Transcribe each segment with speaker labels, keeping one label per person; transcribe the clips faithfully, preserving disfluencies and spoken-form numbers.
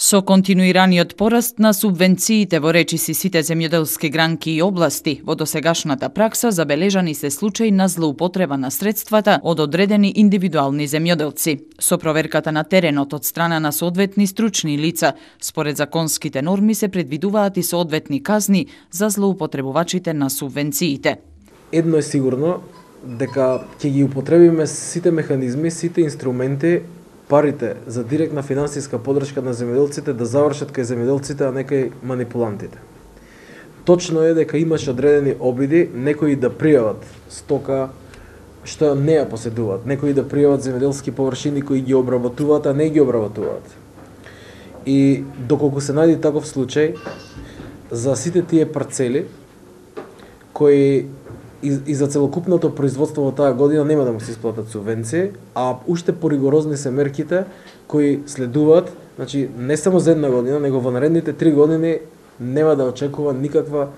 Speaker 1: Со континуираниот пораст на субвенциите во речиси сите земјоделски гранки и области, во досегашната пракса забележани се случаи на злоупотреба на средствата од одредени индивидуални земјоделци. Со проверката на теренот од страна на соодветни стручни лица, според законските норми се предвидуваат и соодветни казни за злоупотребувачите на субвенциите.
Speaker 2: Едно е сигурно, дека ќе ги употребиме сите механизми, сите инструменти, парите за директна финансиска подршка на земјоделците да завршат кај земјоделците, а не кај манипулантите. Точно е дека имаше одредени обиди некои да пријават стока што не ја поседуваат, некои да пријават земјоделски површини кои ги обработуваат, а не ги обработуваат. И доколку се најде таков случај, за сите тие парцели кои И, и за целокупното производство во таа година нема да му се исплатат субвенции, а уште поригорозни се мерките кои следуваат, значи не само за една година, него во наредните три години нема да очекува никаква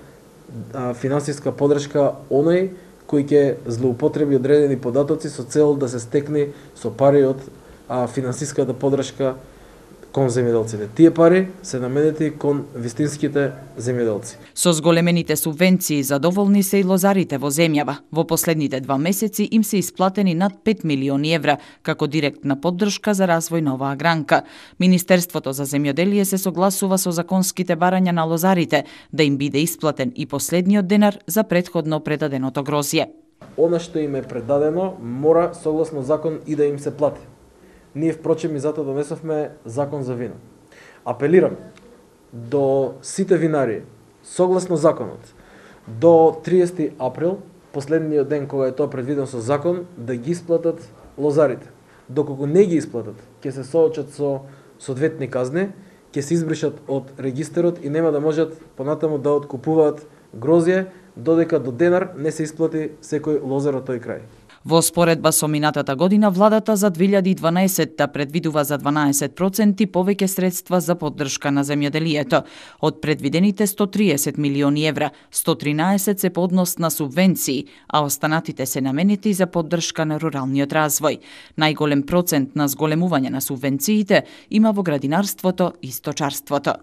Speaker 2: а, финансиска подршка оној кој ќе злоупотреби одредени податоци со цел да се стекне со пари од а, финансиската подршка кон земјоделците. Тие пари се наменети кон вистинските земјоделци.
Speaker 1: Со зголемените субвенции задоволни се и лозарите во земјава. Во последните два месеци им се исплатени над пет милиони евра како директна поддршка за развој на оваа гранка. Министерството за земјоделие се согласува со законските барања на лозарите да им биде исплатен и последниот денар за претходно предаденото грозје.
Speaker 2: Она што им е предадено мора согласно закон и да им се плати. Ние впрочем и затоа донесовме закон за вино. Апелирам до сите винари, согласно законот, до триесети април, последниот ден кога е тоа предвидено со закон, да ги исплатат лозарите. Доколку не ги исплатат, ќе се соочат со соодветни казни, ќе се избришат од регистарот и нема да можат понатаму да откупуваат грозје, додека до денар не се исплати секој лозар од тој крај.
Speaker 1: Во споредба со минатата година, владата за две илјади и дванаесетта предвидува за дванаесет проценти повеќе средства за поддршка на земјоделието. Од предвидените сто триесет милиони евра, сто тринаесет се по однос на субвенции, а останатите се наменети за поддршка на руралниот развој. Најголем процент на зголемување на субвенциите има во градинарството и сточарството.